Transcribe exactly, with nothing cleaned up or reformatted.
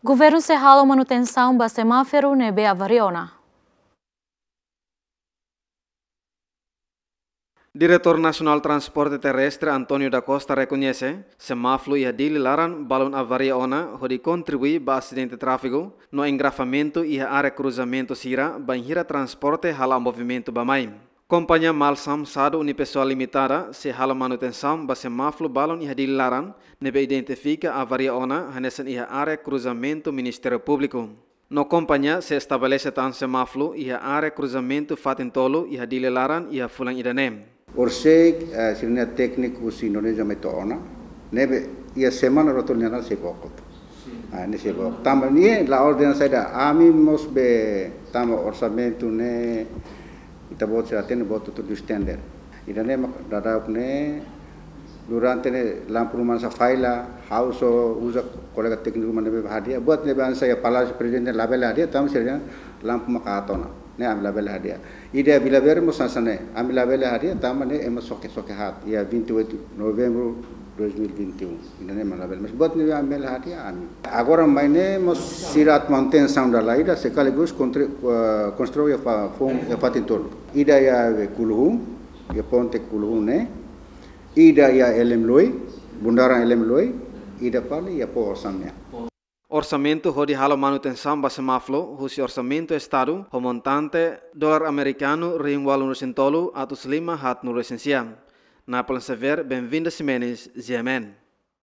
Governu sei halo manutensaun ba semáforu ne'ebé avaria ona. Diretór Nasionál Transporte Terrestre António da Costa rekoñese, semáforu iha Dili laran balun avaria ona hodi kontribui ba asidente tráfegu no engarrafamentu iha área kruzamentu sira bainhira transporte hala'o movimentu bá-mai. Kompañia Malsam Sadu Unipessoal Limitada sei halo manutensaun ba semáforu balun iha Dili laran ne'ebé identifika avaria ona hanesan iha área kruzamentu Ministériu Públiku. No kompañia sei estabelese tan semáforu iha área kruzamentu fatin tolu iha Dili laran iha fulan ida-ne'e. Orsida, eh, sira-nia tékniku husi Indonézia mai to'o ona, ne'ebé iha semana rua tolu nia laran sei book hotu. Ah, ne'e sei book. Tanba ne'e la ordena saida, ami mós be tanba orsamentu ne'e ita-boot sira hatene buat hotu-hotu dos tender. Ida-ne'e mak daudaun ne'e durante ne'e lampu ruma hanesan falla, ha'u só uza kolega tékniku ruma ne'ebé hadi'a. Buat ne'ebé hanesan iha Palásiu Prezidente labele hadi'a, tanba sira lampu maka aat ona. Ne'e ami labele hadi'a. Ida Vila Verde mós hanesan ne'e, ami labele hadi'a, tanba ne'e ema xoke, xoke haat. Iha vinte e oito de novembro de dois mil e vinte e um. Ida-ne'e mak labele. Mas buat ne'ebé ami labele hadi'a, ami. Agora mai ne'e mós sira atu manutensaun dala ida, sekaligus kontre-, eh, konstrui iha fa-, foun, iha fatin tolu. Ida iha Kuluhun, iha ponte Kuluhun ne'e. Ida iha Elem Loi, bundaran Elem Loi, ida fali iha Poho Orsam nian. Orsamentu hodi halo manutensaun ba semáforu husi orsamentu Estadu ho montante dolar amerikanu rihun ualu resin tolu atus lima haat nulu resin sia. Napoleon Xavier, Benvinda Ximenes, G M N.